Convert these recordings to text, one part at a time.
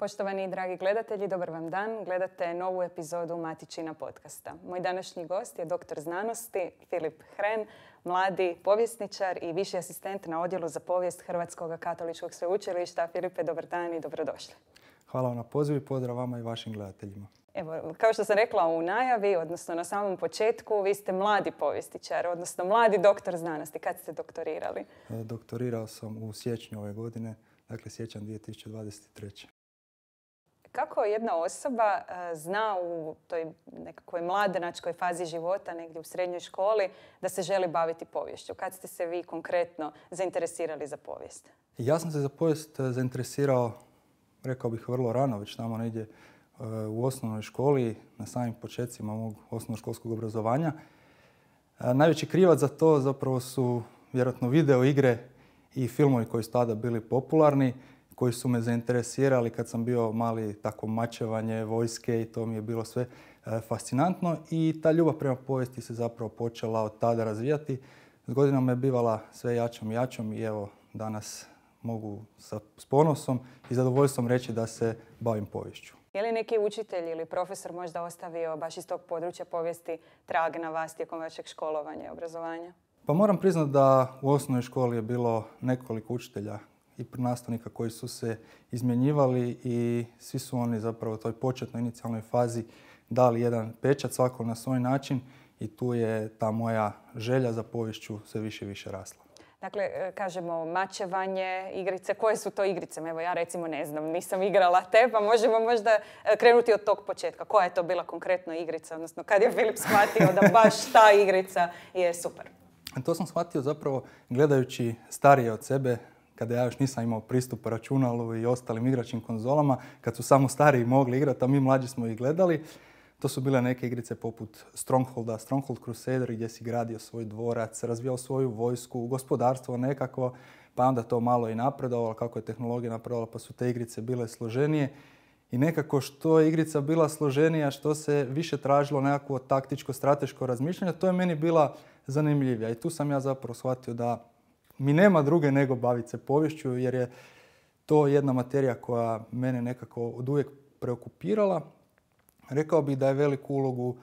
Poštovani i dragi gledatelji, dobar vam dan. Gledate novu epizodu Matičina podcasta. Moj današnji gost je doktor znanosti Filip Hren, mladi povjesničar i viši asistent na Odjelu za povijest Hrvatskog katoličkog sveučilišta. Filipe, dobar dan i dobrodošli. Hvala vam na pozivu i pozdrav vama i vašim gledateljima. Evo, kao što sam rekla u najavi, odnosno na samom početku, vi ste mladi povjesničar, odnosno mladi doktor znanosti. Kad ste doktorirali? Doktorirao sam u siječnju ove godine, dakle siječanj 2023. Kako jedna osoba zna u toj nekakvoj mladenačkoj fazi života, negdje u srednjoj školi, da se želi baviti poviješću? Kad ste se vi konkretno zainteresirali za povijest? Ja sam se za povijest zainteresirao, rekao bih, vrlo rano, već tamo negdje u osnovnoj školi, na samim početcima mog osnovnoškolskog obrazovanja. Najveći krivac za to zapravo su vjerojatno video igre i filmovi koji su tada bili popularni, koji su me zainteresirali kad sam bio mali, tako mačevanje, vojske i to mi je bilo sve fascinantno i ta ljubav prema povijesti se zapravo počela od tada razvijati. S godinama je bivala sve jačom i jačom i evo danas mogu s ponosom i zadovoljstvom reći da se bavim poviješću. Je li neki učitelj ili profesor možda ostavio baš iz tog područja povijesti trag na vas tijekom vašeg školovanja i obrazovanja? Pa moram priznati da u osnovnoj školi je bilo nekoliko učitelja i nastavnika koji su se izmjenjivali i svi su oni zapravo u toj početnoj inicijalnoj fazi dali jedan pečat svako na svoj način i tu je ta moja želja za poviješću sve više i više rasla. Dakle, kažemo mačevanje, igrice. Koje su to igrice? Evo ja recimo ne znam, nisam igrala te, pa možemo možda krenuti od tog početka. Koja je to bila konkretno igrica? Odnosno, kad je Filip shvatio da baš ta igrica je super? To sam shvatio zapravo gledajući starije od sebe, kada ja još nisam imao pristup računalu i ostalim igračkim konzolama, kad su samo stariji mogli igrati, a mi mlađi smo ih gledali. To su bile neke igrice poput Strongholda, Stronghold Crusader, gdje si gradio svoj dvorac, razvijao svoju vojsku, gospodarstvo nekako, pa onda to malo i napredovalo, kako je tehnologija napredovala, pa su te igrice bile složenije. I nekako što je igrica bila složenija, što se više tražilo nekakvo taktičko, strateško razmišljanje, to je meni bila zanimljivija. I tu sam ja zapravo shvatio da mi nema druge nego baviti se poviješću, jer je to jedna materija koja mene nekako oduvijek preokupirala. Rekao bih da je veliku ulogu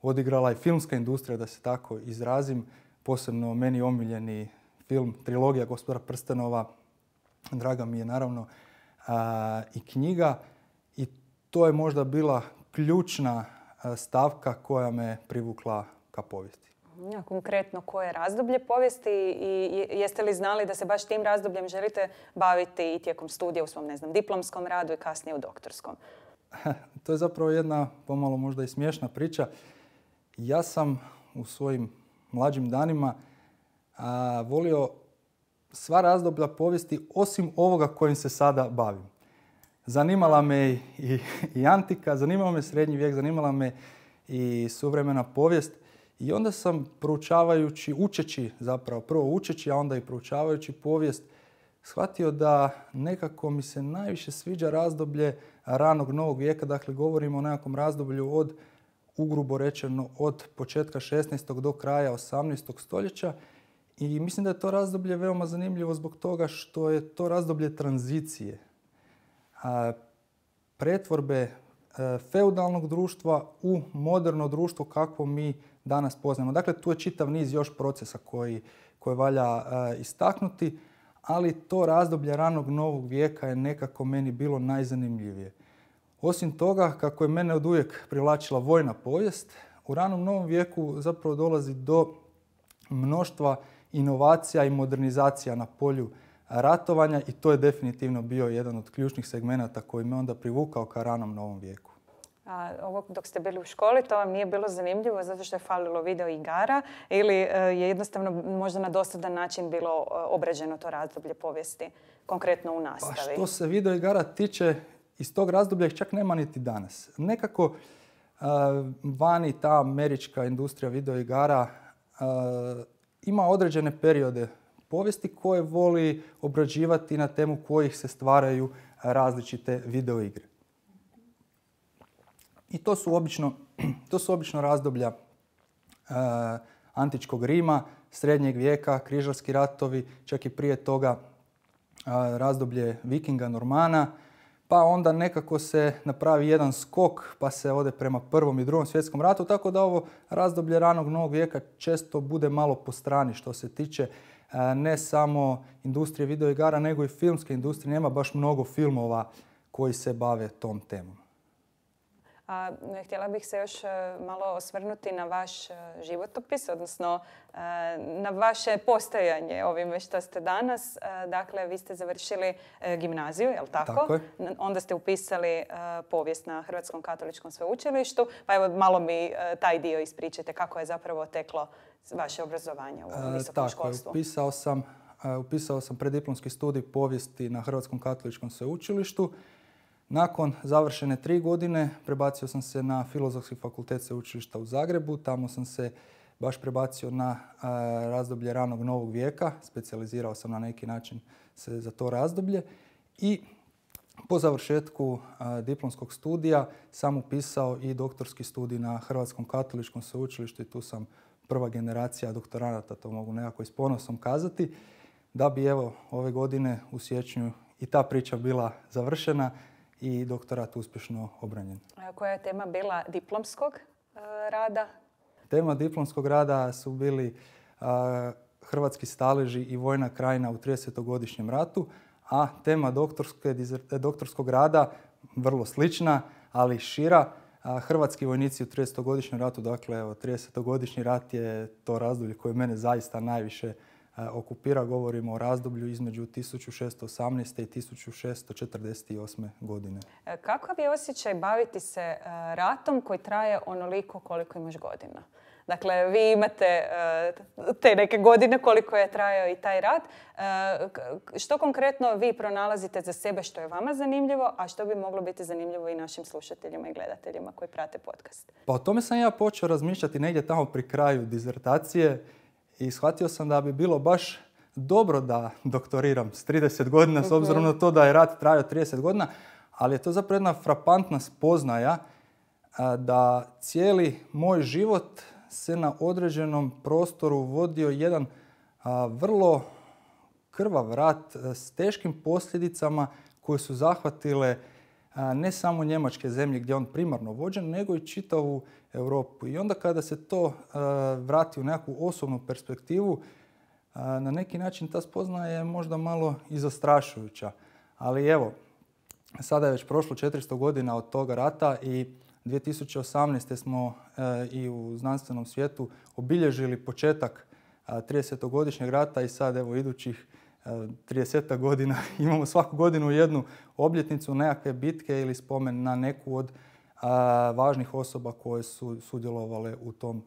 odigrala i filmska industrija, da se tako izrazim. Posebno meni omiljeni film, trilogija Gospodara prstenova, draga mi je naravno i knjiga. I to je možda bila ključna stavka koja me privukla ka povijesti. Konkretno, koje je razdoblje povijesti i jeste li znali da se baš tim razdobljem želite baviti i tijekom studija u svom, ne znam, diplomskom radu i kasnije u doktorskom? To je zapravo jedna pomalo možda i smiješna priča. Ja sam u svojim mlađim danima volio sva razdoblja povijesti osim ovoga kojim se sada bavim. Zanimala me i antika, zanimala me srednji vijek, zanimala me i suvremena povijest. I onda sam proučavajući, učeći zapravo, prvo učeći, a onda i proučavajući povijest, shvatio da nekako mi se najviše sviđa razdoblje ranog novog vijeka. Dakle, govorimo o nekakvom razdoblju od, ugrubo rečeno, od početka 16. do kraja 18. stoljeća. I mislim da je to razdoblje veoma zanimljivo zbog toga što je to razdoblje tranzicije. Pretvorbe feudalnog društva u moderno društvo kakvo mi danas poznajemo. Dakle, tu je čitav niz još procesa koje valja istaknuti, ali to razdoblje ranog novog vijeka je nekako meni bilo najzanimljivije. Osim toga, kako je mene oduvijek privlačila vojna povijest, u ranom novom vijeku zapravo dolazi do mnoštva inovacija i modernizacija na polju ratovanja i to je definitivno bio jedan od ključnih segmenata koji me onda privukao ka ranom novom vijeku. A ovo dok ste bili u školi, to vam nije bilo zanimljivo zato što je falilo video igara ili je jednostavno možda na dosadan način bilo obrađeno to razdoblje povijesti, konkretno u nastavi? Pa što se video igara tiče, iz tog razdoblja ih čak nema niti danas. Nekako vani ta američka industrija video igara ima određene periode povijesti koje voli obrađivati na temu kojih se stvaraju različite video igre. I to su obično razdoblja antičkog Rima, srednjeg vijeka, križarski ratovi, čak i prije toga razdoblje Vikinga, Normana, pa onda nekako se napravi jedan skok pa se ode prema Prvom i Drugom svjetskom ratu, tako da ovo razdoblje ranog novog vijeka često bude malo po strani što se tiče ne samo industrije videoigara, nego i filmske industrije. Nema baš mnogo filmova koji se bave tom temom. Htjela bih se još malo osvrnuti na vaš životopis, odnosno na vaše postojanje ovime što ste danas. Dakle, vi ste završili gimnaziju, je li tako? Tako je. Onda ste upisali povijest na Hrvatskom katoličkom sveučilištu. Pa evo, malo mi taj dio ispričajte kako je zapravo teklo vaše obrazovanje u visokom školstvu. Upisao sam preddiplomski studij povijesti na Hrvatskom katoličkom sveučilištu. Nakon završene 3 godine prebacio sam se na Filozofski fakultet sveučilišta u Zagrebu. Tamo sam se baš prebacio na razdoblje ranog novog vijeka. Specijalizirao sam na neki način se za to razdoblje. I po završetku diplomskog studija sam upisao i doktorski studij na Hrvatskom katoličkom sveučilištu i tu sam prva generacija doktoranata, to mogu nekako i s ponosom kazati, da bi evo ove godine u siječnju i ta priča bila završena i doktorat uspješno obranjen. Koja je tema bila diplomskog rada? Tema diplomskog rada su bili hrvatski staleži i vojna krajina u 30-godišnjem ratu, a tema doktorskog rada vrlo slična, ali šira. Hrvatski vojnici u 30-godišnjem ratu, dakle 30-godišnji rat je to razdoblje koje mene zaista najviše okupira. Govorimo o razdoblju između 1618. i 1648. godine. Kakav je osjećaj baviti se ratom koji traje onoliko koliko imaš godina? Dakle, vi imate te neke godine koliko je trajao i taj rat. Što konkretno vi pronalazite za sebe što je vama zanimljivo, a što bi moglo biti zanimljivo i našim slušateljima i gledateljima koji prate podcast? Pa o tome sam ja počeo razmišljati negdje tamo pri kraju dizertacije i shvatio sam da bi bilo baš dobro da doktoriram s 30 godina, s obzirom na to da je rat trajao 30 godina, ali je to zapravo jedna frapantna spoznaja da cijeli moj život se na određenom prostoru vodio jedan vrlo krvav rat s teškim posljedicama koje su zahvatile ne samo njemačke zemlje gdje je on primarno vođen, nego i čitavu Europu. I onda kada se to vrati u nekakvu osobnu perspektivu, na neki način ta spoznaja je možda malo i zastrašujuća. Ali evo, sada je već prošlo 400 godina od toga rata i 2018. smo i u znanstvenom svijetu obilježili početak 30-godišnjeg rata i sad evo idućih 30 godina imamo svaku godinu jednu obljetnicu, nekakve bitke ili spomen na neku od važnih osoba koje su sudjelovale u tom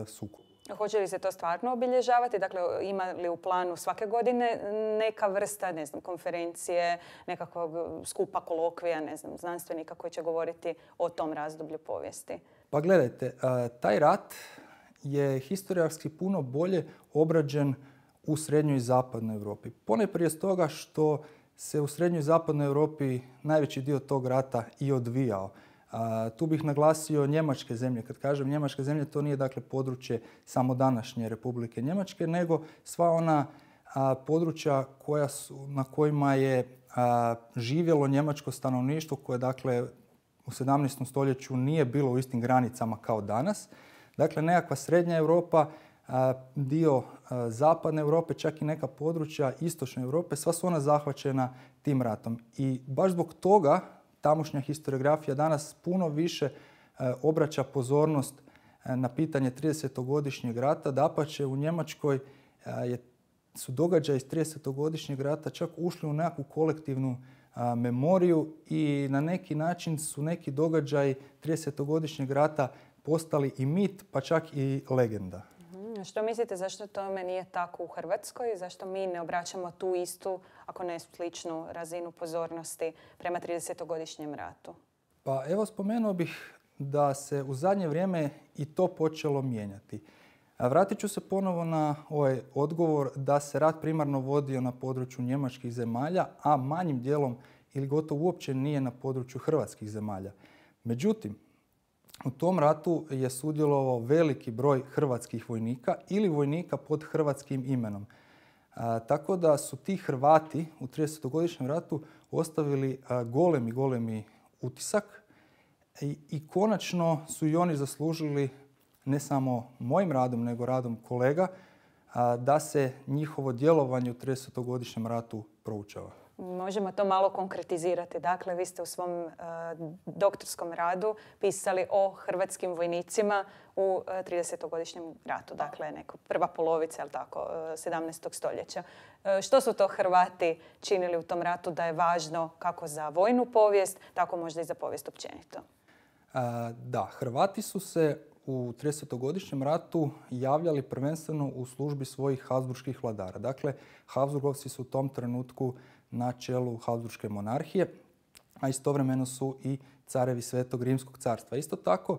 sukobu. Hoće li se to stvarno obilježavati? Dakle, ima li u planu svake godine neka vrsta, ne znam, konferencije, nekakvog skupa kolokvija, ne znam, znanstvenika koji će govoriti o tom razdoblju povijesti? Pa gledajte, taj rat je historijski puno bolje obrađen u srednjoj i zapadnoj Europi. Ponajprije stoga što se u srednjoj i zapadnoj Europi najveći dio tog rata i odvijao. Tu bih naglasio njemačke zemlje. Kad kažem njemačke zemlje, to nije dakle područje samo današnje Republike Njemačke, nego sva ona područja na kojima je živjelo njemačko stanovništvo koje dakle u 17. stoljeću nije bilo u istim granicama kao danas. Dakle, nekakva srednja Europa, dio zapadne Europe, čak i neka područja istočne Europe, sva su ona zahvaćena tim ratom. I baš zbog toga tamošnja historiografija danas puno više obraća pozornost na pitanje 30-godišnjeg rata. Dapače, u Njemačkoj su događaji iz 30-godišnjeg rata čak ušli u nekakvu kolektivnu memoriju i na neki način su neki događaji 30-godišnjeg rata postali i mit, pa čak i legenda. Što mislite, zašto tome nije tako u Hrvatskoj? Zašto mi ne obraćamo tu istu, ako ne sličnu razinu pozornosti prema 30-godišnjem ratu? Pa evo, spomenuo bih da se u zadnje vrijeme i to počelo mijenjati. Vratit ću se ponovo na ovaj odgovor da se rat primarno vodio na području njemačkih zemalja, a manjim dijelom ili gotovo uopće nije na području hrvatskih zemalja. Međutim, u tom ratu je sudjelovao veliki broj hrvatskih vojnika ili vojnika pod hrvatskim imenom. Tako da su ti Hrvati u 30-godišnjem ratu ostavili golemi utisak i konačno su i oni zaslužili ne samo mojim radom, nego radom kolega, da se njihovo djelovanje u 30-godišnjem ratu proučava. Možemo to malo konkretizirati. Dakle, vi ste u svom doktorskom radu pisali o hrvatskim vojnicima u 30-godišnjem ratu. Dakle, prva polovica, jel tako, 17. stoljeća. Što su to Hrvati činili u tom ratu da je važno kako za vojnu povijest, tako možda i za povijest općenito? Da, Hrvati su se u 30-godišnjem ratu javljali prvenstveno u službi svojih habsburških vladara. Dakle, Habsburgovci su u tom trenutku na čelu Habsburške monarhije, a istovremeno su i carevi Svetog Rimskog carstva. Isto tako,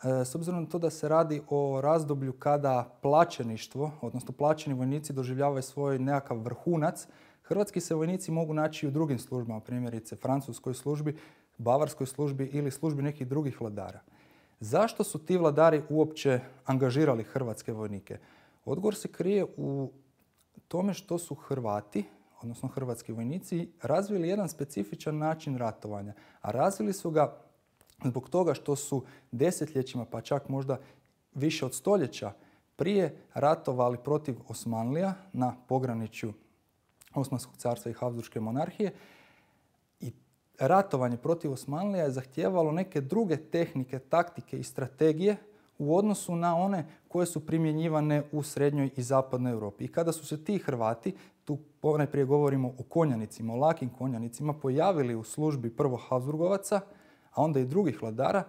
s obzirom na to da se radi o razdoblju kada plaćeništvo, odnosno plaćeni vojnici doživljavaju svoj nekakav vrhunac, hrvatski se vojnici mogu naći i u drugim službama, primjerice francuskoj službi, bavarskoj službi ili službi nekih drugih vladara. Zašto su ti vladari uopće angažirali hrvatske vojnike? Odgovor se krije u tome što su Hrvati, odnosno hrvatski vojnici, razvili jedan specifičan način ratovanja. A razvili su ga zbog toga što su desetljećima, pa čak možda više od stoljeća prije ratovali protiv Osmanlija na pograničju Osmanskog carstva i Habsburške monarhije. I ratovanje protiv Osmanlija je zahtijevalo neke druge tehnike, taktike i strategije u odnosu na one koje su primjenjivane u srednjoj i zapadnoj Europi. I kada su se ti Hrvati, tu najprije govorimo o konjanicima, o lakim konjanicima, pojavili u službi prvo Habsburgovaca, a onda i drugih vladara,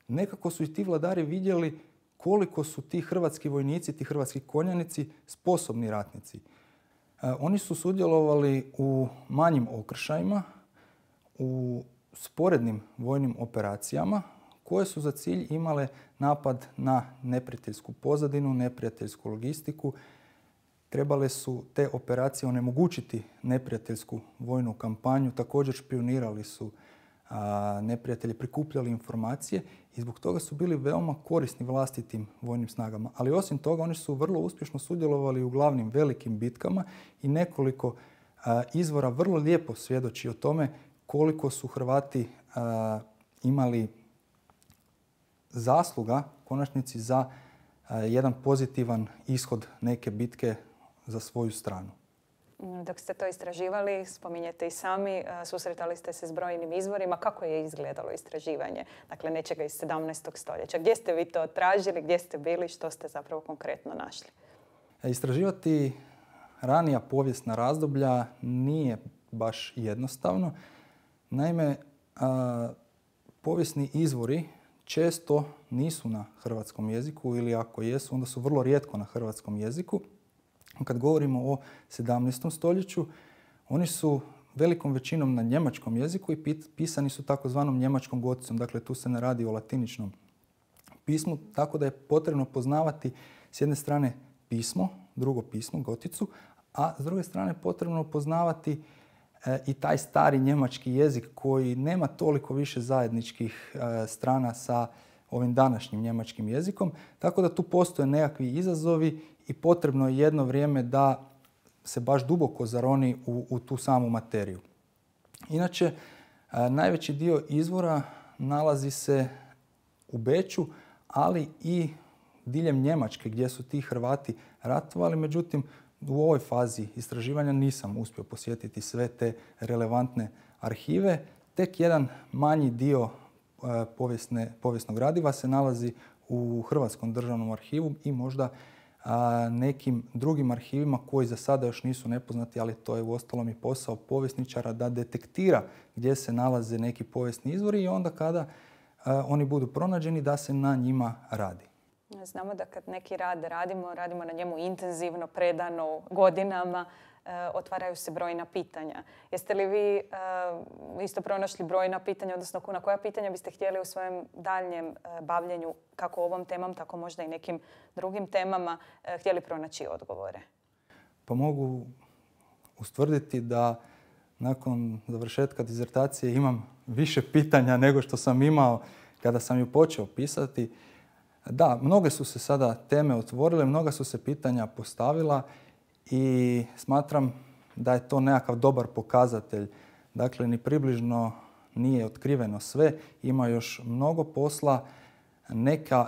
nekako su i ti vladari vidjeli koliko su ti hrvatski vojnici, ti hrvatski konjanici sposobni ratnici. Oni su sudjelovali u manjim okršajima, u sporednim vojnim operacijama koje su za cilj imale napad na neprijateljsku pozadinu, neprijateljsku logistiku. Trebale su te operacije onemogućiti neprijateljsku vojnu kampanju. Također špionirali su neprijatelji, prikupljali informacije i zbog toga su bili veoma korisni vlastitim vojnim snagama. Ali osim toga oni su vrlo uspješno sudjelovali u glavnim velikim bitkama i nekoliko izvora vrlo lijepo svjedoči o tome koliko su Hrvati imali zasluga u konačnici za jedan pozitivan ishod neke bitke za svoju stranu. Dok ste to istraživali, spominjete i sami, susretali ste se s brojnim izvorima. Kako je izgledalo istraživanje? Dakle, nečega iz 17. stoljeća. Gdje ste vi to tražili, gdje ste bili, što ste zapravo konkretno našli? Istraživati ranija povijesna razdoblja nije baš jednostavno. Naime, povijesni izvori često nisu na hrvatskom jeziku ili ako jesu, onda su vrlo rijetko na hrvatskom jeziku. Kad govorimo o 17. stoljeću, oni su velikom većinom na njemačkom jeziku i pisani su takozvanom njemačkom goticom. Dakle, tu se ne radi o latiničnom pismu, tako da je potrebno poznavati s jedne strane pismo, drugo pismo, goticu, a s druge strane potrebno poznavati i taj stari njemački jezik koji nema toliko više zajedničkih strana sa ovim današnjim njemačkim jezikom. Tako da tu postoje nekakvi izazovi i potrebno je jedno vrijeme da se baš duboko zaroni u tu samu materiju. Inače, najveći dio izvora nalazi se u Beču, ali i diljem Njemačke gdje su ti Hrvati ratovali. Međutim, u ovoj fazi istraživanja nisam uspio posjetiti sve te relevantne arhive. Tek jedan manji dio povijesnog gradiva se nalazi u Hrvatskom državnom arhivu i možda nekim drugim arhivima koji za sada još nisu nepoznati, ali to je uostalom i posao povjesničara da detektira gdje se nalaze neki povijesni izvori i onda kada oni budu pronađeni da se na njima radi. Znamo da kad neki rad radimo na njemu intenzivno, predano, godinama, otvaraju se brojna pitanja. Jeste li vi isto pronašli brojna pitanja, odnosno na koja pitanja biste htjeli u svojem daljnjem bavljenju, kako ovom temom, tako možda i nekim drugim temama, htjeli pronaći odgovore? Pa mogu ustvrditi da nakon završetka dizertacije imam više pitanja nego što sam imao kada sam ju počeo pisati. Da, mnoge su se sada teme otvorile, mnoga su se pitanja postavila i smatram da je to nekakav dobar pokazatelj Dakle, ni približno nije otkriveno sve. Ima još mnogo posla.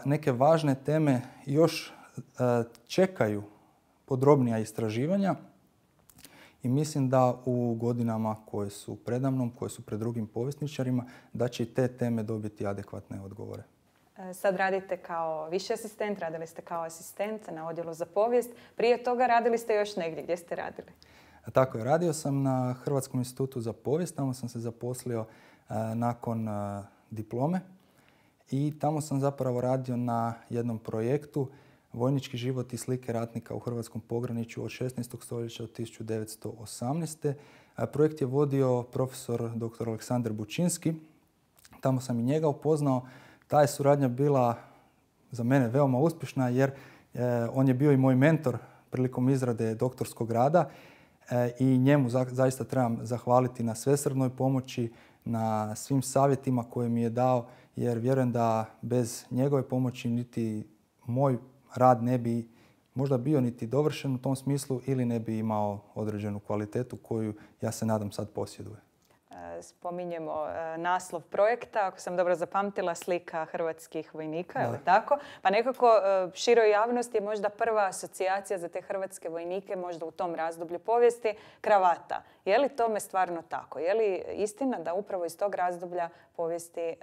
Neke važne teme još čekaju podrobnija istraživanja i mislim da u godinama koje su predamnom, koje su pred drugim povjesničarima, da će i te teme dobiti adekvatne odgovore. Sad radite kao viši asistent, radili ste kao asistent na odjelu za povijest. Prije toga radili ste još negdje. Gdje ste radili? Tako je. Radio sam na Hrvatskom institutu za povijest. Tamo sam se zaposlio nakon diplome i tamo sam zapravo radio na jednom projektu Vojnički život i slike ratnika u hrvatskom pograničju od 16. stoljeća do 1918. Projekt je vodio profesor dr. Aleksandar Bučinski. Tamo sam i njega upoznao. Ta je suradnja bila za mene veoma uspješna jer on je bio i moj mentor prilikom izrade doktorskog rada i njemu zaista trebam zahvaliti na svesrdnoj pomoći, na svim savjetima koje mi je dao, jer vjerujem da bez njegove pomoći niti moj rad ne bi možda bio niti dovršen u tom smislu ili ne bi imao određenu kvalitetu koju ja se nadam sad posjeduje. Spominjemo naslov projekta, ako sam dobro zapamtila, slika hrvatskih vojnika, je li Da. tako? Pa nekako široj javnosti je možda prva asocijacija za te hrvatske vojnike, možda u tom razdoblju povijesti, kravata. Je li tome stvarno tako? Je li istina da upravo iz tog razdoblja povijesti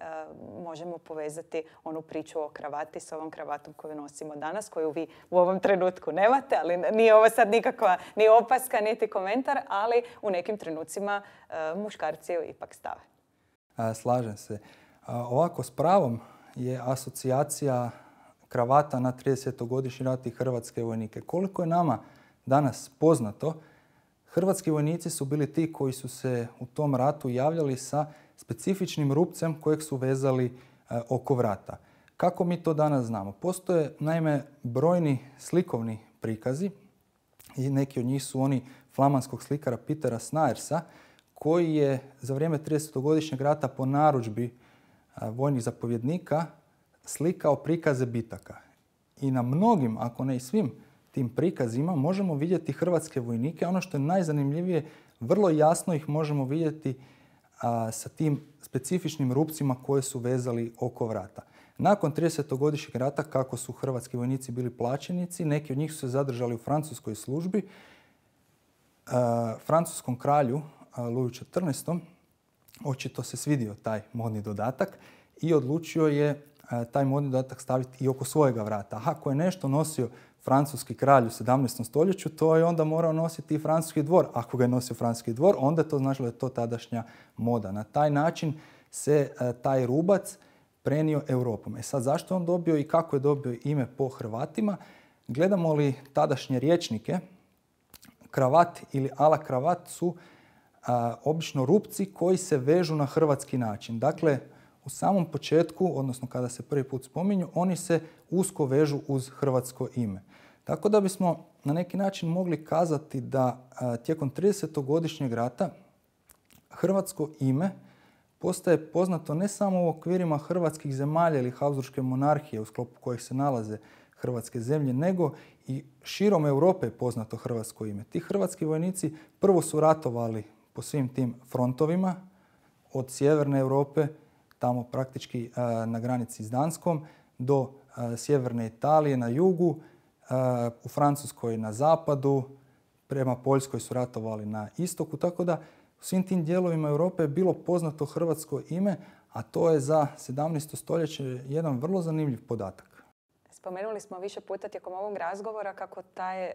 možemo povezati onu priču o kravati s ovom kravatom koju nosimo danas, koju vi u ovom trenutku nemate, ali nije ovo sad nikakva ni opaska, niti komentar, ali u nekim trenucima muškarci ju ipak stave. Slažem se. Ovako, s pravom je asocijacija kravata na 30-godišnji rat i hrvatske vojnike. Koliko je nama danas poznato, hrvatski vojnici su bili ti koji su se u tom ratu javljali sa specifičnim rupcem kojeg su vezali oko vrata. Kako mi to danas znamo? Postoje naime brojni slikovni prikazi i neki od njih su oni flamanskog slikara Petera Snaersa, koji je za vrijeme 30-godišnjeg rata po narudžbi vojnih zapovjednika slikao prikaze bitaka. I na mnogim, ako ne i svim tim prikazima možemo vidjeti hrvatske vojnike. Ono što je najzanimljivije, vrlo jasno ih možemo vidjeti sa tim specifičnim rupcima koje su vezali oko vrata. Nakon 30-godišnjeg rata, kako su hrvatski vojnici bili plaćenici, neki od njih su se zadržali u francuskoj službi. Francuskom kralju Luju XIV. Očito se svidio taj modni dodatak i odlučio je taj modni dodatak staviti i oko svojega vrata. Ako je nešto nosio francuski kralj u 17. stoljeću, to je onda morao nositi i francuski dvor. Ako ga je nosio francuski dvor, onda je to značilo da je to tadašnja moda. Na taj način se taj rubac prenio Europom. Sad, zašto je on dobio i kako je dobio ime po Hrvatima? Gledamo li tadašnje rječnike, kravat ili ala kravat su obično rupci koji se vežu na hrvatski način. Dakle, u samom početku, odnosno kada se prvi put spominju, oni se usko vežu uz hrvatsko ime. Tako da bismo na neki način mogli kazati da tijekom 30-godišnjeg rata hrvatsko ime postaje poznato ne samo u okvirima hrvatskih zemalja ili Habsburške monarhije u sklopu kojih se nalaze hrvatske zemlje, nego i širom Europe je poznato hrvatsko ime. Ti hrvatski vojnici prvo su ratovali po svim tim frontovima od sjeverne Europe, tamo praktički na granici s Danskom, do sjeverne Italije na jugu, u Francuskoj na zapadu, prema Poljskoj su ratovali na istoku, tako da u svim tim dijelovima Europe je bilo poznato hrvatsko ime, a to je za 17. stoljeće jedan vrlo zanimljiv podatak. Spomenuli smo više puta tijekom ovog razgovora kako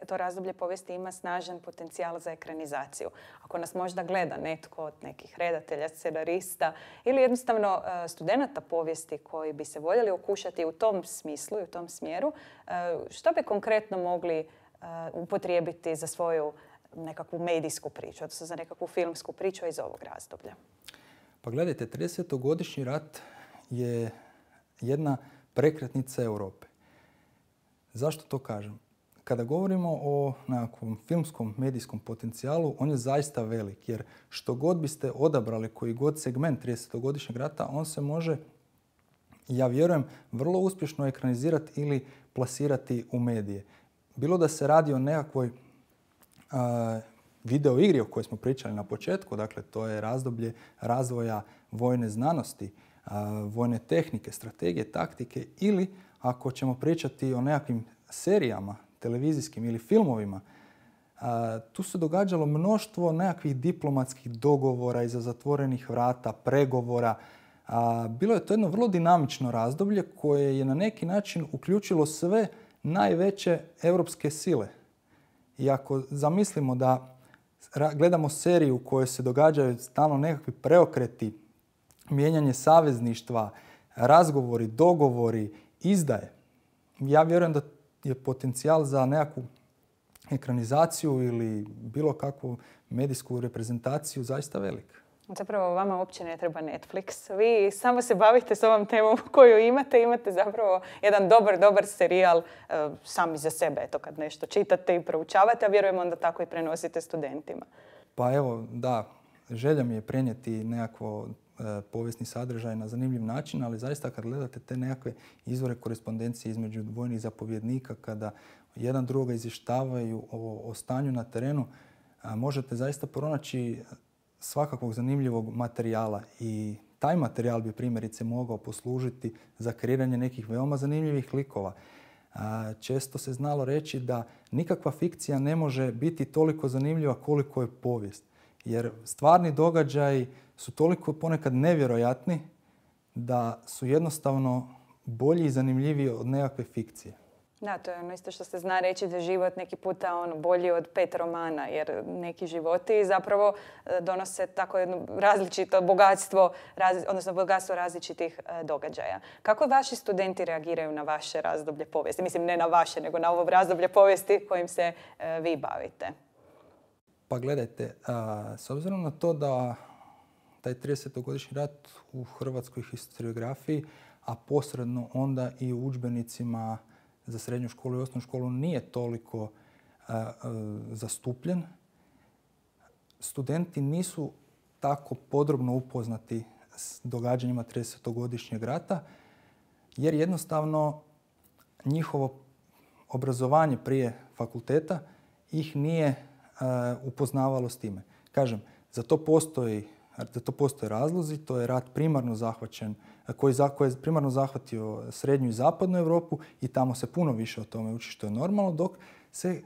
to razdoblje povijesti ima snažan potencijal za ekranizaciju. Ako nas možda gleda netko od nekih redatelja, scenarista ili jednostavno studenata povijesti koji bi se voljeli okušati u tom smislu i u tom smjeru, što bi konkretno mogli upotrijebiti za svoju nekakvu medijsku priču, odnosno za nekakvu filmsku priču iz ovog razdoblja? Pa gledajte, 30-godišnji rat je jedna prekretnica Europe. Zašto to kažem? Kada govorimo o nekakvom filmskom medijskom potencijalu, on je zaista velik, jer što god biste odabrali, koji god segment 30-godišnjeg rata, on se može, ja vjerujem, vrlo uspješno ekranizirati ili plasirati u medije. Bilo da se radi o nekakvoj video igri o kojoj smo pričali na početku, dakle to je razdoblje razvoja vojne znanosti, vojne tehnike, strategije, taktike, ili ako ćemo pričati o nekakvim serijama, televizijskim ili filmovima, tu se događalo mnoštvo nekakvih diplomatskih dogovora iza zatvorenih vrata, pregovora. Bilo je to jedno vrlo dinamično razdoblje koje je na neki način uključilo sve najveće europske sile. I ako zamislimo da gledamo seriju u kojoj se događaju stalno nekakvi preokreti, mijenjanje savezništva, razgovori, dogovori, izdaje, ja vjerujem da je potencijal za nekakvu ekranizaciju ili bilo kakvu medijsku reprezentaciju zaista velik. Zapravo vama uopće ne treba Netflix. Vi samo se bavite s ovom temom koju imate. Imate zapravo jedan dobar serijal sami za sebe. Eto, kad nešto čitate i proučavate, a vjerujem onda tako i prenosite studentima. Pa evo, da, želja mi je prenijeti nekakvo povijesni sadržaj na zanimljiv način, ali zaista kad gledate te nekakve izvore korespondencije između vojnih zapovjednika, kada jedan drugoga izvještavaju o stanju na terenu, možete zaista pronaći svakakvog zanimljivog materijala i taj materijal bi primjerice mogao poslužiti za kreiranje nekih veoma zanimljivih likova. Često se znalo reći da nikakva fikcija ne može biti toliko zanimljiva koliko je povijest. Jer stvarni događaji su toliko ponekad nevjerojatni da su jednostavno bolji i zanimljiviji od nekakve fikcije. Da, to je ono isto što se zna reći da je život neki puta bolji od 5 romana, jer neki životi zapravo donose tako jedno različito bogatstvo, odnosno bogatstvo različitih događaja. Kako vaši studenti reagiraju na vaše razdoblje povijesti? Mislim, ne na vaše, nego na ovo razdoblje povijesti kojim se vi bavite. Pa gledajte, s obzirom na to da taj 30-godišnji rat u hrvatskoj historiografiji, a posredno onda i u udžbenicima za srednju školu i osnovnu školu nije toliko zastupljen, studenti nisu tako podrobno upoznati s događanjima 30-godišnjeg rata, jer jednostavno njihovo obrazovanje prije fakulteta ih nije upoznavalo s time. Kažem, za to postoje razlozi, to je rat primarno zahvaćen, koji je primarno zahvatio srednju i zapadnu Europu i tamo se puno više o tome uči što je normalno, dok se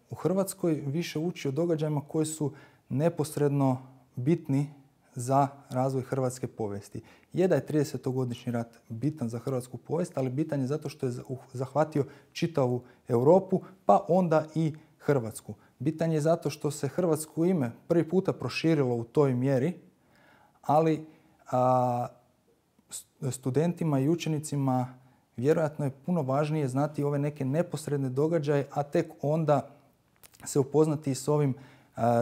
u Hrvatskoj više uči o događajima koji su neposredno bitni za razvoj hrvatske povijesti. Je da je 30-godišnji rat bitan za hrvatsku povijest, ali bitan je zato što je zahvatio čitavu Europu, pa onda i Hrvatsku. Bitan je zato što se hrvatsko ime prvi puta proširilo u toj mjeri, ali studentima i učenicima vjerojatno je puno važnije znati ove neke neposredne događaje, a tek onda se upoznati s ovim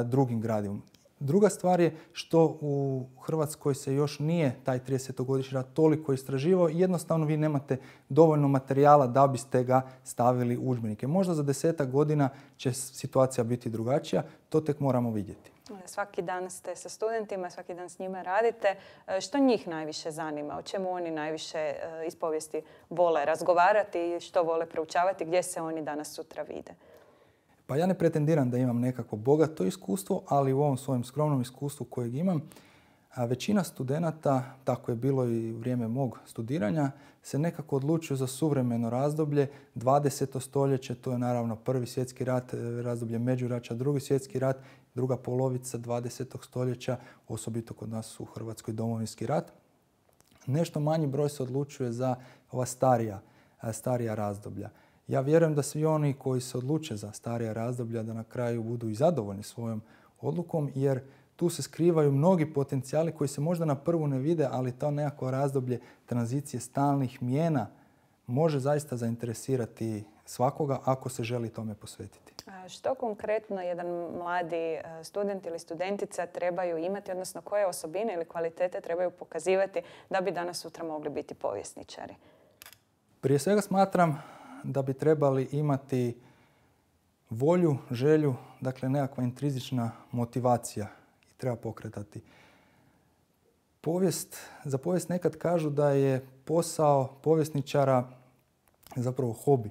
drugim gradivom. Druga stvar je što u Hrvatskoj se još nije taj 30-godišnji rat toliko istraživao i jednostavno vi nemate dovoljno materijala da biste ga stavili u udžbenike. Možda za 10-ak godina će situacija biti drugačija, to tek moramo vidjeti. Svaki dan ste sa studentima, svaki dan s njima radite. Što njih najviše zanima? O čemu oni najviše iz povijesti vole razgovarati, što vole proučavati, gdje se oni danas sutra vide? Pa ja ne pretendiram da imam nekako bogato iskustvo, ali u ovom svojem skromnom iskustvu kojeg imam, većina studenata, tako je bilo i u vrijeme mog studiranja, se nekako odlučuju za suvremeno razdoblje, 20. stoljeće, to je naravno Prvi svjetski rat, razdoblje međuračja, Drugi svjetski rat, druga polovica 20. stoljeća, osobito kod nas u Hrvatskoj Domovinski rat. Nešto manji broj se odlučuje za ova starija razdoblja. Ja vjerujem da svi oni koji se odluče za starija razdoblja da na kraju budu i zadovoljni svojom odlukom, jer tu se skrivaju mnogi potencijali koji se možda na prvu ne vide, ali to nekako razdoblje tranzicije stalnih mijena može zaista zainteresirati svakoga ako se želi tome posvetiti. Što konkretno jedan mladi student ili studentica trebaju imati, odnosno koje osobine ili kvalitete trebaju pokazivati da bi danas sutra mogli biti povjesničari? Prije svega smatram da bi trebali imati volju, želju, dakle nekakva intrizična motivacija i treba pokretati. Za povijest nekad kažu da je posao povjesničara zapravo hobi.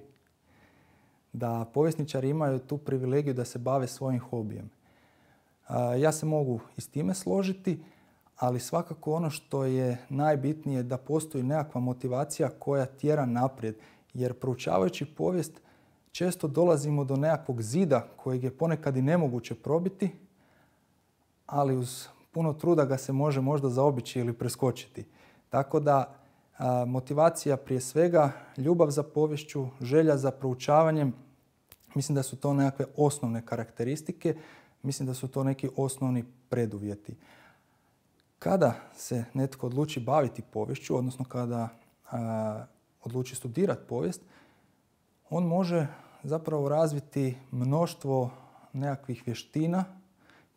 Da povjesničari imaju tu privilegiju da se bave svojim hobijem. Ja se mogu i s time složiti, ali svakako ono što je najbitnije da postoji nekakva motivacija koja tjera naprijed. Jer proučavajući povijest često dolazimo do nekakvog zida kojeg je ponekad i nemoguće probiti, ali uz puno truda ga se može možda zaobići ili preskočiti. Tako da motivacija prije svega, ljubav za poviješću, želja za proučavanjem, mislim da su to nekakve osnovne karakteristike, mislim da su to neki osnovni preduvjeti. Kada se netko odluči baviti poviješću, odnosno kada odluči studirati povijest, on može zapravo razviti mnoštvo nekakvih vještina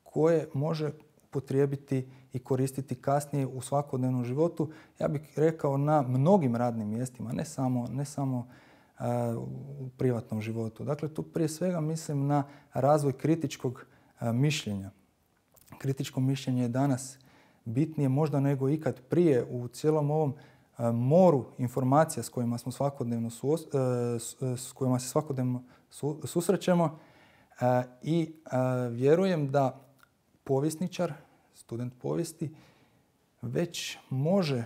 koje može upotrijebiti i koristiti kasnije u svakodnevnom životu. Ja bih rekao na mnogim radnim mjestima, ne samo u privatnom životu. Dakle, tu prije svega mislim na razvoj kritičkog mišljenja. Kritičko mišljenje je danas bitnije možda nego ikad prije u cijelom ovom moru informacija s kojima smo se svakodnevno susrećemo i vjerujem da povjesničar, student povijesti, već može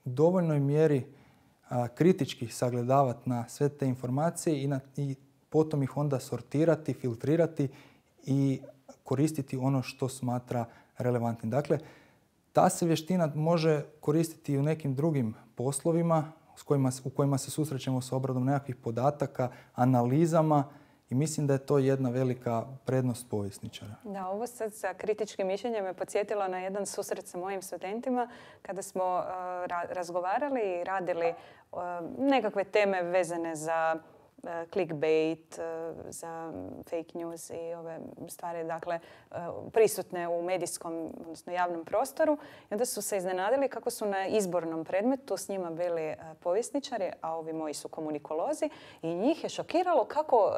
u dovoljnoj mjeri kritički sagledavati na sve te informacije i potom ih onda sortirati, filtrirati i koristiti ono što smatra relevantnim. Dakle, ta se vještina može koristiti i u nekim drugim poslovima u kojima se susrećemo s obradom nekakvih podataka, analizama i mislim da je to jedna velika prednost povjesničara. Da, ovo sad sa kritičkim mišljenjem me podsjetilo na jedan susret sa mojim studentima kada smo razgovarali i radili nekakve teme vezane za clickbait, za fake news i ove stvari, dakle, prisutne u medijskom, odnosno javnom prostoru. I onda su se iznenadili kako su na izbornom predmetu s njima bili povjesničari, a ovi moji su komunikolozi. I njih je šokiralo kako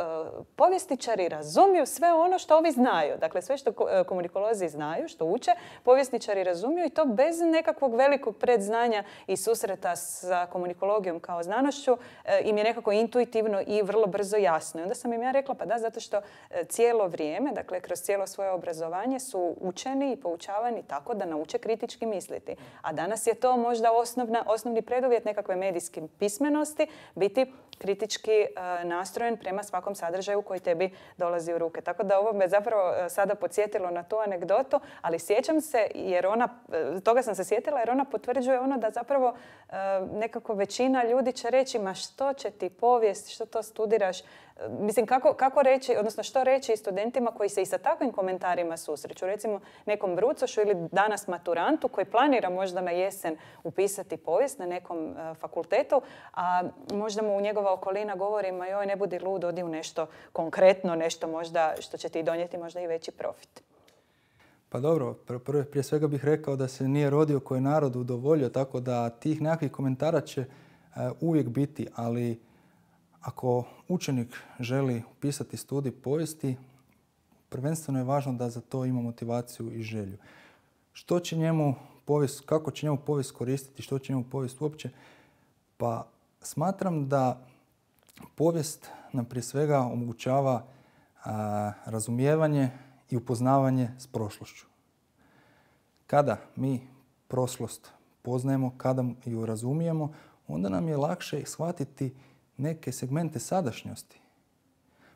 povjesničari razumiju sve ono što ovi znaju. Dakle, sve što komunikolozi znaju, što uče, povjesničari razumiju i to bez nekakvog velikog predznanja i susreta sa komunikologijom kao znanošću im je nekako intuitivno i vrlo brzo jasno. I onda sam im ja rekla, pa da, zato što cijelo vrijeme, dakle kroz cijelo svoje obrazovanje su učeni i poučavani tako da nauče kritički misliti. A danas je to možda osnovni preduvjet nekakve medijske pismenosti, biti kritički nastrojen prema svakom sadržaju koji tebi dolazi u ruke. Tako da ovo me zapravo sada podsjetilo na tu anegdotu, ali sjećam se, toga sam se sjetila jer ona potvrđuje ono da zapravo nekako većina ljudi će reći, ma što će ti povijest, što to studiraš. Mislim, kako reći, odnosno što reći studentima koji se i sa takvim komentarima susreću. Recimo nekom brucošu ili danas maturantu koji planira možda na jesen upisati povijest na nekom fakultetu, a možda mu njegova okolina govori, ma joj, ne budi lud, odi u nešto konkretno, nešto možda što će ti donijeti možda i veći profit. Pa dobro, prije svega bih rekao da se nije rodio koji narod udovoljio, tako da tih nekakvih komentara će uvijek biti, ali ako učenik želi upisati studij povijesti, prvenstveno je važno da za to ima motivaciju i želju. Što će njemu povijest, kako će njemu povijest koristiti, što će njemu povijest uopće? Pa smatram da povijest nam prije svega omogućava razumijevanje i upoznavanje s prošlošću. Kada mi prošlost poznajemo, kada ju razumijemo, onda nam je lakše shvatiti neke segmente sadašnjosti.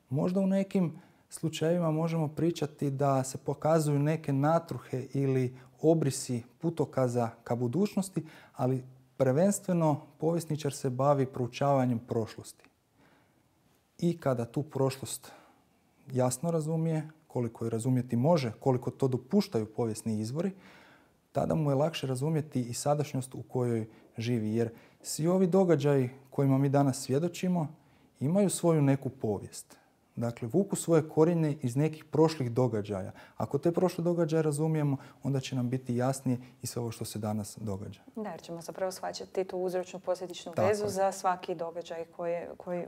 Možda u nekim slučajevima možemo pričati da se pokazuju neke natruhe ili obrisi putokaza ka budućnosti, ali prvenstveno povjesničar se bavi proučavanjem prošlosti. I kada tu prošlost jasno razumije, koliko je razumjeti može, koliko to dopuštaju povijesni izvori, tada mu je lakše razumjeti i sadašnjost u kojoj živi. Jer svi ovi događaji kojima mi danas svjedočimo imaju svoju neku povijest. Dakle, vuku svoje korijenje iz nekih prošlih događaja. Ako te prošle događaje razumijemo, onda će nam biti jasnije i sve ovo što se danas događa. Da, jer ćemo zapravo shvaćati tu uzročnu posljedičnu vezu za svaki događaj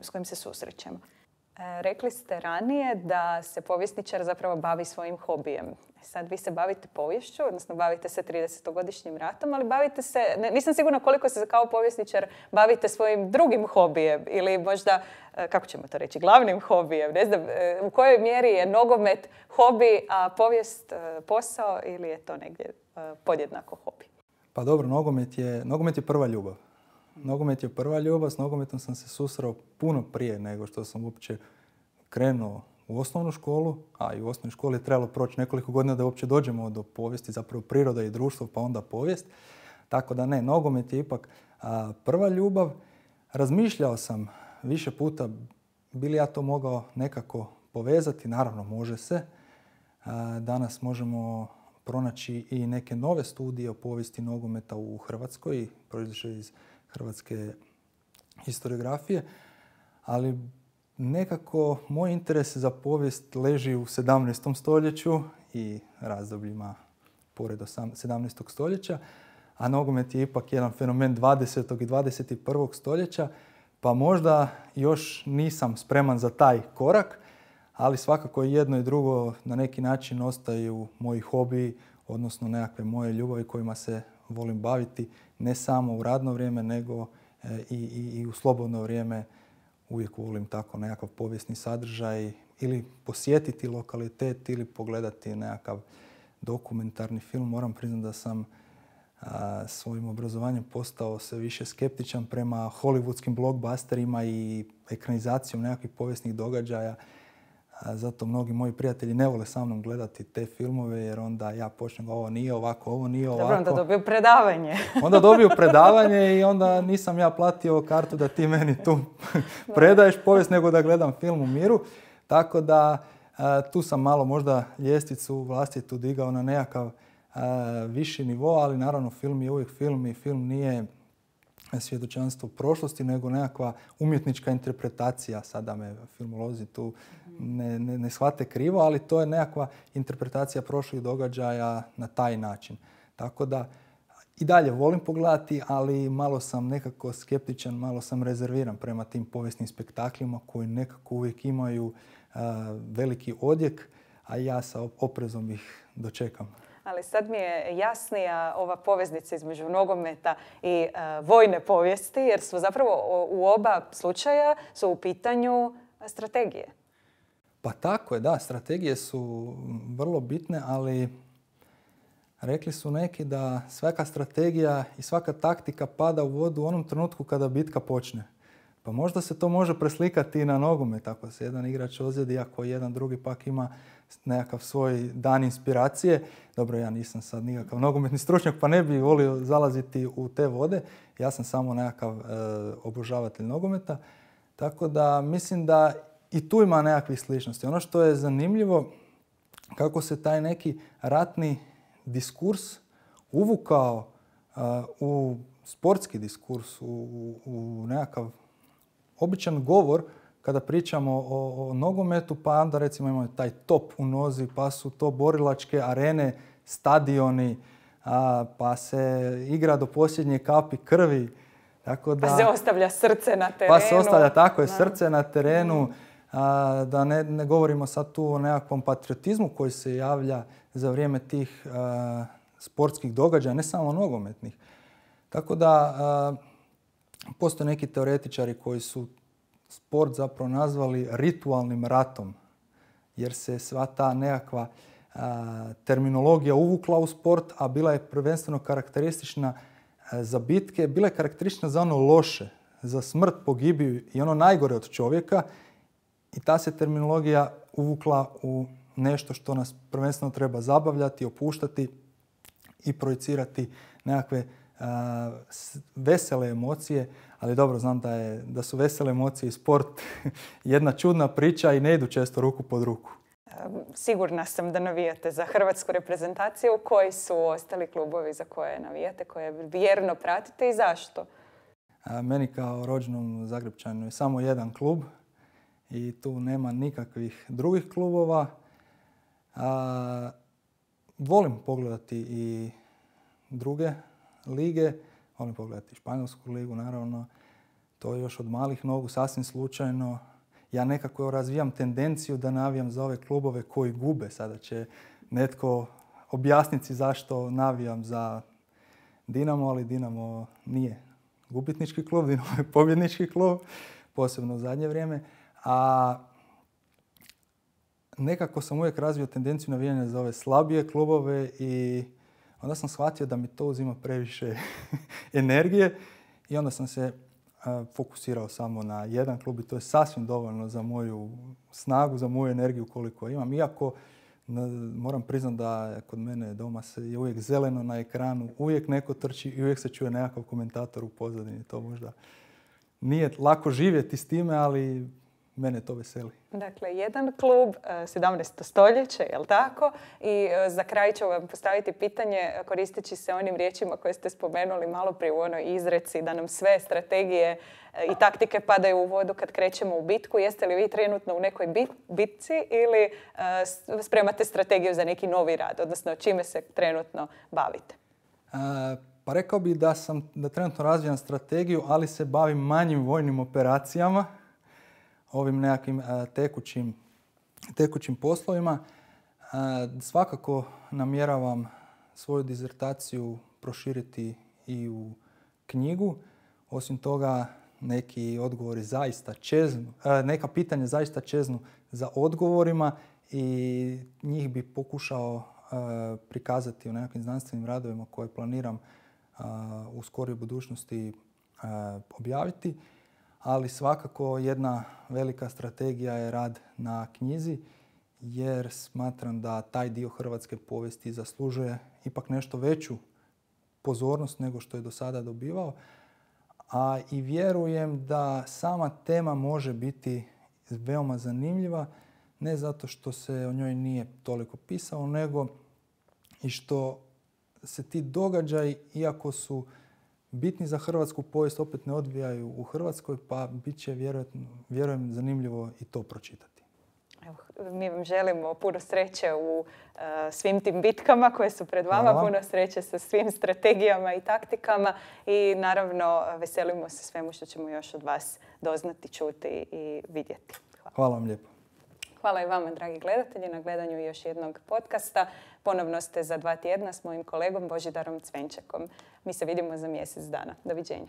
s kojim se susrećemo. Rekli ste ranije da se povjesničar zapravo bavi svojim hobijem. Sad vi se bavite poviješću, odnosno bavite se 30-godišnjim ratom, ali bavite se, nisam sigurna koliko se kao povjesničar bavite svojim drugim hobijem ili možda, kako ćemo to reći, glavnim hobijem. Ne znam, u kojoj mjeri je nogomet hobi, a povijest posao ili je to negdje podjednako hobi? Pa dobro, nogomet je prva ljubav. Nogomet je prva ljubav, s nogometom sam se susreo puno prije nego što sam uopće krenuo u osnovnu školu, a i u osnovnoj školi je trebalo proći nekoliko godina da uopće dođemo do povijesti, zapravo priroda i društvo, pa onda povijest. Tako da ne, nogomet je ipak prva ljubav. Razmišljao sam više puta, bi li ja to mogao nekako povezati, naravno može se. Danas možemo pronaći i neke nove studije o povijesti nogometa u Hrvatskoj, proizašle iz hrvatske historiografije, ali nekako moj interes za povijest leži u 17. stoljeću i razdobljima pored 17. stoljeća, a nogomet je ipak jedan fenomen 20. i 21. stoljeća, pa možda još nisam spreman za taj korak, ali svakako jedno i drugo na neki način ostaju moji hobiji, odnosno nekakve moje ljubavi kojima se volim baviti ne samo u radno vrijeme, nego i u slobodno vrijeme. Uvijek volim tako nekakav povijesni sadržaj ili posjetiti lokalitet ili pogledati nekakav dokumentarni film. Moram priznati da sam svojim obrazovanjem postao sve više skeptičan prema hollywoodskim blockbusterima i ekranizacijom nekakvih povijesnih događaja. Zato mnogi moji prijatelji ne vole sa mnom gledati te filmove jer onda ja počnem ovo nije ovako, ovo nije ovako. Dobro, onda dobiju predavanje. Onda dobiju predavanje i onda nisam ja platio kartu da ti meni tu predaješ povijest nego da gledam film u miru. Tako da tu sam malo možda ljestvicu vlastitu digao na nekakav viši nivo, ali naravno film je uvijek film i film nije svjedočanstvo prošlosti, nego nekakva umjetnička interpretacija. Sada me filmolozi tu ne shvate krivo, ali to je nekakva interpretacija prošlih događaja na taj način. Tako da i dalje volim pogledati, ali malo sam nekako skeptičan, malo sam rezerviran prema tim povijesnim spektaklima koji nekako uvijek imaju veliki odjek, a ja sa oprezom ih dočekam. Ali sad mi je jasnija ova poveznica između nogometa i vojne povijesti, jer su zapravo u oba slučaja su u pitanju strategije. Pa tako je, da. Strategije su vrlo bitne, ali rekli su neki da svaka strategija i svaka taktika pada u vodu u onom trenutku kada bitka počne. Pa možda se to može preslikati i na nogomet. Ako se jedan igrač ozljedi, ako jedan drugi pak ima nekakav svoj dan inspiracije. Dobro, ja nisam sad nikakav nogometni stručnjak, pa ne bih volio zalaziti u te vode. Ja sam samo nekakav obožavatelj nogometa. Tako da mislim da i tu ima nekakvih sličnosti. Ono što je zanimljivo, kako se taj neki ratni diskurs uvukao u sportski diskurs, u nekakav običan govor kada pričamo o nogometu, pa onda recimo imamo taj top u nozi, pa su to borilačke arene, stadioni, pa se igra do posljednje kapi krvi. Tako da, pa se ostavlja srce na terenu. Pa se ostavlja, tako je, srce na terenu. Da ne govorimo sad tu o nekakvom patriotizmu koji se javlja za vrijeme tih sportskih događaja, ne samo nogometnih. Tako da postoje neki teoretičari koji su sport zapravo nazvali ritualnim ratom, jer se sva ta nekakva terminologija uvukla u sport, a bila je prvenstveno karakteristična za bitke, bila je karakteristična za ono loše, za smrt, pogibiju i ono najgore od čovjeka. I ta se terminologija uvukla u nešto što nas prvenstveno treba zabavljati, opuštati i projicirati nekakve vesele emocije, ali dobro znam da su vesele emocije i sport jedna čudna priča i ne idu često ruku pod ruku. Sigurna sam da navijate za hrvatsku reprezentaciju. Koji su ostali klubovi za koje navijate, koje vjerno pratite i zašto? Meni kao rođenom Zagrepčaninu je samo jedan klub i tu nema nikakvih drugih klubova. Volim pogledati i druge lige, volim pogledati Španjolsku ligu, naravno. To je još od malih nogu, sasvim slučajno. ja nekako razvijam tendenciju da navijam za ove klubove koji gube. Sada će netko objasniti zašto navijam za Dinamo, ali Dinamo nije gubitnički klub, Dinamo je pobjednički klub, posebno u zadnje vrijeme. A nekako sam uvijek razvio tendenciju navijanja za ove slabije klubove i onda sam shvatio da mi to uzima previše energije i onda sam se fokusirao samo na jedan klub i to je sasvim dovoljno za moju snagu, za moju energiju koliko imam. Iako moram priznati da kod mene doma je uvijek zeleno na ekranu, uvijek neko trči i uvijek se čuje nekakav komentator u pozadini. To možda nije lako živjeti s time, ali mene to veseli. Dakle, jedan klub, 17. stoljeće, jel tako? I za kraj ću vam postaviti pitanje koristeći se onim riječima koje ste spomenuli malo prije u onoj izreci da nam sve strategije i taktike padaju u vodu kad krećemo u bitku. Jeste li vi trenutno u nekoj bitci ili spremate strategiju za neki novi rad? Odnosno, čime se trenutno bavite? Pa rekao bih da trenutno razvijam strategiju, ali se bavim manjim vojnim operacijama, ovim nekakvim tekućim poslovima. Svakako namjeravam svoju dizertaciju proširiti i u knjigu. Osim toga, neki odgovori zaista čeznu, neka pitanja zaista čeznu za odgovorima i njih bi pokušao prikazati u nekakvim znanstvenim radovima koje planiram u skorijoj budućnosti objaviti. Ali svakako jedna velika strategija je rad na knjizi jer smatram da taj dio hrvatske povijesti zaslužuje ipak nešto veću pozornost nego što je do sada dobivao. A i vjerujem da sama tema može biti veoma zanimljiva, ne zato što se o njoj nije toliko pisalo, nego i što se ti događaji, iako su bitni za hrvatsku povijest, opet ne odvijaju u Hrvatskoj, pa bit će vjerujem zanimljivo i to pročitati. Evo, mi vam želimo puno sreće u svim tim bitkama koje su pred vama, Hvala. puno sreće sa svim strategijama i taktikama i naravno veselimo se svemu što ćemo još od vas doznati, čuti i vidjeti. Hvala vam lijepo. Hvala i vama, dragi gledatelji, na gledanju još jednog podcasta. Ponovno ste za 2 tjedna s mojim kolegom Božidarom Cvenčekom. Mi se vidimo za mjesec dana. Doviđenja.